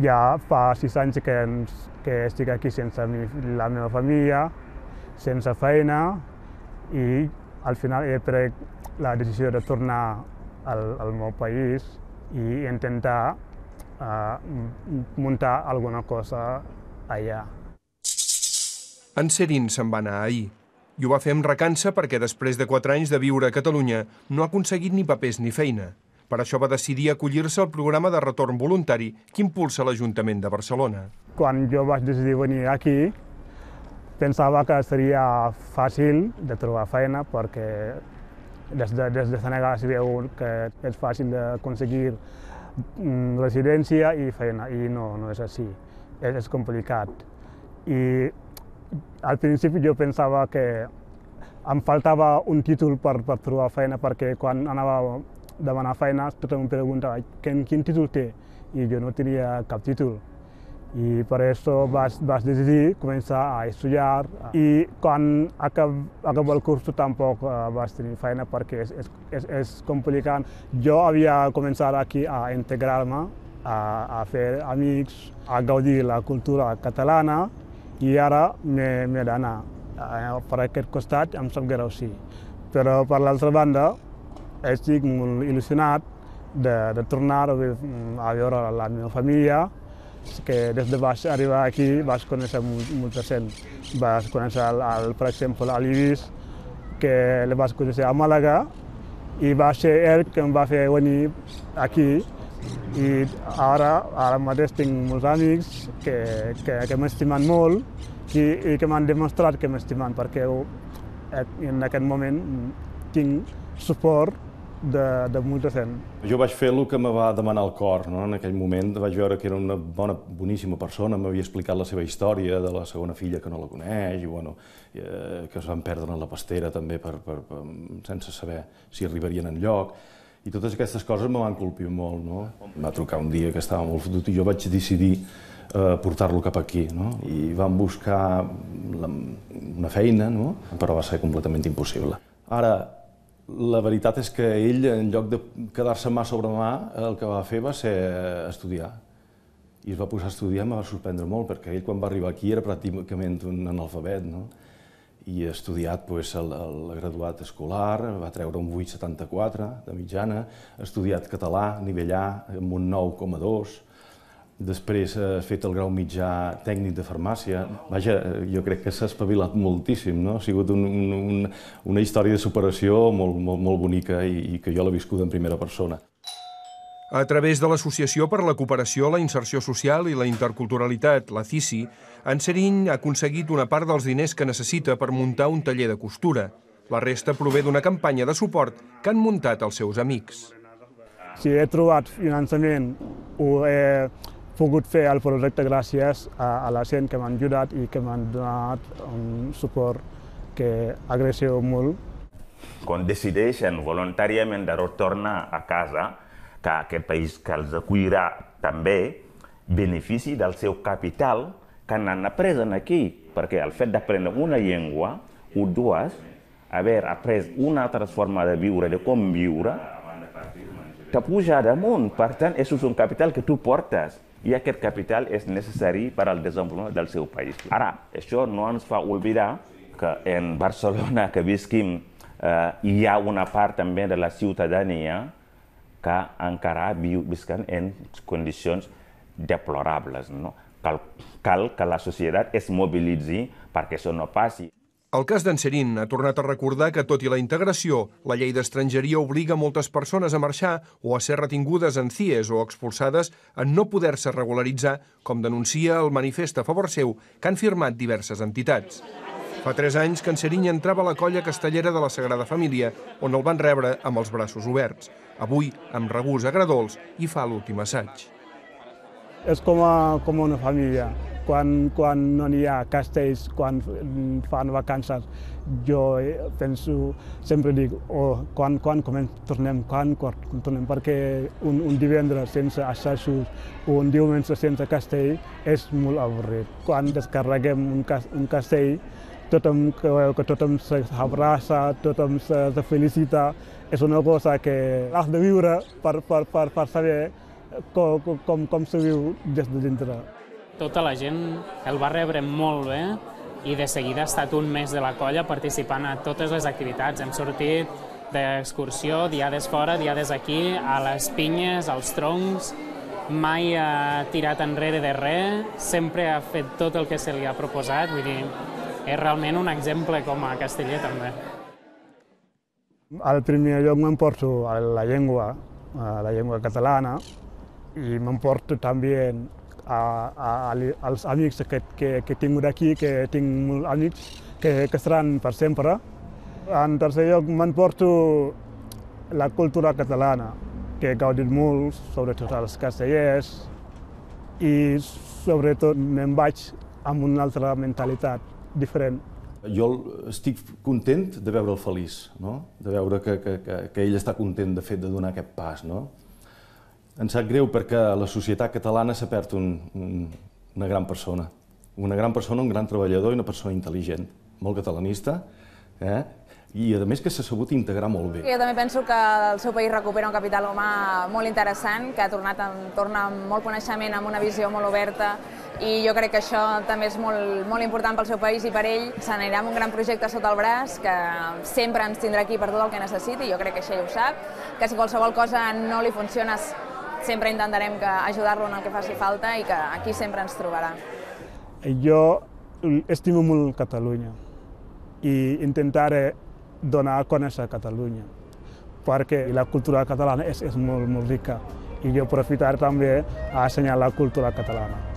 Ja fa 6 anys que estic aquí sense la meva família, sense feina, i al final he pres la decisió de tornar al meu país i intentar muntar alguna cosa allà. En Serin se'n va anar ahir. I ho va fer amb recança perquè després de 4 anys de viure a Catalunya no ha aconseguit ni papers ni feina. Per això va decidir acollir-se al programa de retorn voluntari que impulsa l'Ajuntament de Barcelona. Quan jo vaig decidir venir aquí, pensava que seria fàcil de trobar feina perquè des de Senegal s'hi veu que és fàcil d'aconseguir residència i feina, i no és així, és complicat. I al principi jo pensava que em faltava un títol per trobar feina, perquè quan anava a demanar feina tothom em preguntava quin títol té, i jo no tenia cap títol. I per això vaig decidir començar a estudiar, i quan acabo el curs tampoc vaig tenir feina perquè és complicat. Jo havia començat aquí a integrar-me, a fer amics, a gaudir la cultura catalana, i ara m'he d'anar. Per aquest costat em sap greu, sí. Però per l'altra banda estic molt il·lusionat de tornar a veure la meva família, que des de vaig arribar aquí vaig conèixer molta gent. Vaig conèixer, per exemple, l'Ibis, que el vaig conèixer a Màlaga, i va ser ell que em va fer venir aquí. I ara mateix tinc molts amics que m'estimen molt i que m'han demostrat que m'estimen, perquè en aquest moment tinc suport de molta gent. Jo vaig fer el que me va demanar el cor, no? En aquell moment vaig veure que era una boníssima persona, m'havia explicat la seva història de la segona filla que no la coneix, i que es van perdre en la pastera també sense saber si arribarien enlloc. I totes aquestes coses me van colpir molt, no? Em va trucar un dia que estava molt fotut i jo vaig decidir portar-lo cap aquí, no? I vam buscar una feina, no? Però va ser completament impossible. Ara, la veritat és que ell, en lloc de quedar-se mà sobre mà, el que va fer va ser estudiar. I es va posar a estudiar, em va sorprendre molt, perquè ell quan va arribar aquí era pràcticament un analfabet, no? I ha estudiat el graduat escolar, va treure un 8,74 de mitjana, ha estudiat català, nivell A, amb un 9,2, després ha fet el grau mitjà tècnic de farmàcia. Vaja, jo crec que s'ha espavilat moltíssim, no? Ha sigut una història de superació molt bonica i que jo l'he viscuda en primera persona. A través de l'Associació per la Cooperació, la Inserció Social i la Interculturalitat, la CICI, en Serin ha aconseguit una part dels diners que necessita per muntar un taller de costura. La resta prové d'una campanya de suport que han muntat els seus amics. Si he trobat finançament, ho he pogut fer el projecte gràcies a la gent que m'han ajudat i que m'han donat un suport que agraeixo molt. Quan decideixen voluntàriament de retornar a casa, que aquest país que els acollirà també benefici del seu capital que n'han après aquí, perquè el fet d'aprendre una llengua o dues, haver après una altra forma de viure, de com viure, te puja damunt. Per tant, és un capital que tu portes i aquest capital és necessari per al desenvolupament del seu país. Ara, això no ens fa oblidar que en Barcelona que visquim hi ha una part també de la ciutadania que encara visquen en condicions deplorables. Cal que la societat es mobilitzi perquè això no passi. El cas d'en Serin ha tornat a recordar que, tot i la integració, la llei d'estrangeria obliga moltes persones a marxar o a ser retingudes en CIEs o expulsades en no poder-se regularitzar, com denuncia el manifest a favor seu que han firmat diverses entitats. Fa 3 anys que en Serin entrava a la colla castellera de la Sagrada Família, on el van rebre amb els braços oberts. Avui, amb regust agradols, hi fa l'últim assaig. És com una família. Quan no hi ha castells, quan fan vacances, jo penso, sempre dic, quan tornem, perquè un divendres sense assajos o un diumenge sense castell és molt avorrit. Quan descarreguem un castell, tothom veu que tothom s'abraça, tothom se felicita. És una cosa que has de viure per saber com se viu des de dintre. Tota la gent el va rebre molt bé i de seguida ha estat un mes de la colla participant a totes les activitats. Hem sortit d'excursió, diades fora, diades aquí, a les pinyes, als troncs, mai ha tirat enrere de res, sempre ha fet tot el que se li ha proposat, vull dir, és realment un exemple com a casteller també. Al primer lloc m'emporto la llengua catalana, i m'emporto també als amics que he tingut aquí, que tinc molts amics que estaran per sempre. En tercer lloc m'emporto la cultura catalana, que he gaudit molt, sobretot als castellers, i sobretot me'n vaig amb una altra mentalitat diferent. Jo estic content de veure'l feliç, no? De veure que ell està content de fet de donar aquest pas, no? Em sap greu perquè a la societat catalana s'ha perdut una gran persona. Una gran persona, un gran treballador i una persona intel·ligent, molt catalanista, i a més que s'ha sabut integrar molt bé. Jo també penso que el seu país recupera un capital humà molt interessant, que torna amb molt coneixement, amb una visió molt oberta, i jo crec que això també és molt important pel seu país i per ell. Se n'anirà amb un gran projecte sota el braç, que sempre ens tindrà aquí per tot el que necessiti, jo crec que això ja ho sap, que si qualsevol cosa no li funciona sempre intentarem ajudar-lo en el que faci falta i que aquí sempre ens trobarà. Jo estimo molt Catalunya i intentaré donar a conèixer Catalunya, perquè la cultura catalana és molt rica i jo aprofitaré també a ensenyar la cultura catalana.